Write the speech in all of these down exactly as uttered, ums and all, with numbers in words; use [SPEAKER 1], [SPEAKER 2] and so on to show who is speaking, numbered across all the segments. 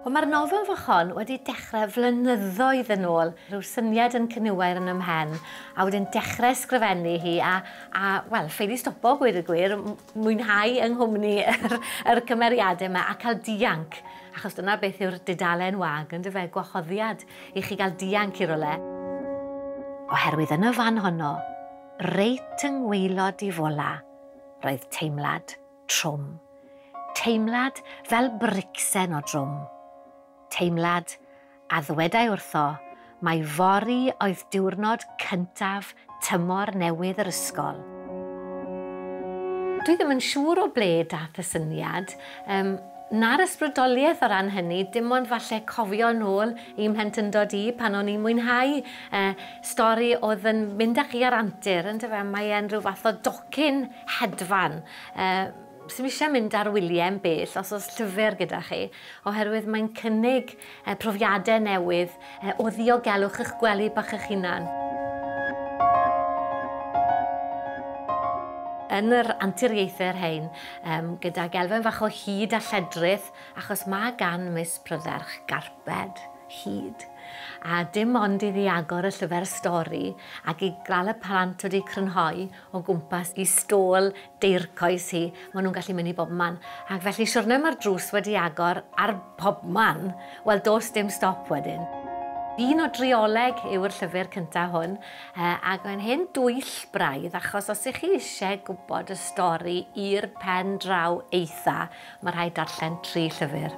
[SPEAKER 1] Wel, mae'r nofel fach hon wedi dechrau flynyddoedd yn ôl, rhyw syniad yn cyniwair yn ymhen, a wedyn dechrau ysgrifennu hi a, a wel, ffeili stopo gweud y gwir, mwynhau yng nghwmni yr, yr cymeriadau yma a cael dianc, achos dyna beth yw'r dudalen wag, yndyfe, gwahoddiad i chi gael dianc i rywle. Oherwydd yn y fan honno, reit yng ngwaelod i fola, roedd teimlad trwm. Teimlad fel bricsen o drwm. Teimlad a ddwedai wrtho mai fory oedd diwrnod cyntaf tymor newydd yr ysgol. Dwi ddim yn siŵr o ble dath y syniad, um, na'r ysbrydoliaeth o ran hynny, dim ond falle cofio nôl i'm mhlentyndod i pan o'n i'n mwynhau uh, stori oedd yn mynd â chi ar antur, yndyfe? Mae e'n rhyw fath o docyn hedfan. Uh, Sdim eisiau mynd ar wyliau'n bell os oes llyfr gyda chi, oherwydd mae'n cynnig eh, profiadau newydd eh, o ddiogelwch eich gwely bach eich hunan. Yn yr anturiaethau'r hein, um, gydag elfen fach o hud a lledrith, achos mae gan Miss Prydderch garped hud. A dim ond iddi agor y llyfr stori ac i gael y plant wedi crynhoi o gwmpas i stôl deircoes hi, maen nhw'n gallu mynd i bob man. Ac felly siwrne mae'r drws wedi agor ar pob man, wel does dim stop wedyn. Un o drioleg yw'r llyfr cyntaf hwn, ac mae'n hen dwyll braidd, achos os ych chi eisiau gwybod y stori i'r pen draw eitha, mae rhaid darllen tri llyfr.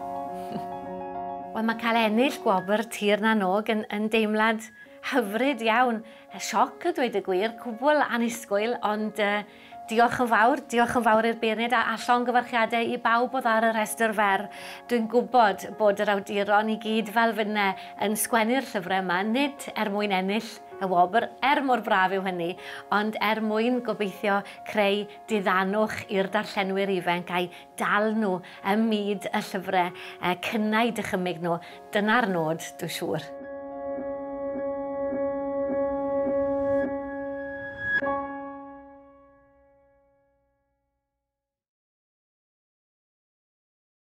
[SPEAKER 1] Wel, mae cael ennill gwobr Tir na n-Og yn, yn deimlad hyfryd iawn. Sioc a dweud y gwir, cwbl annisgwyl, ond uh, diolch yn fawr, diolch yn fawr i'r beirniaid a, a llongyfarchiadau i bawb oedd ar y rhestr fer. Dwi'n gwybod bod yr awduron i gyd fel finne yn sgwennu'r llyfrau yma, nid er mwyn ennill y wobr, er mor braf yw hynny, ond er mwyn gobeithio creu diddanwch i'r darllenwyr ifanc a'i dal nhw ym myd y llyfrau, cynnau dychymyg nhw. Dyna'r nod, dwi'n siŵr.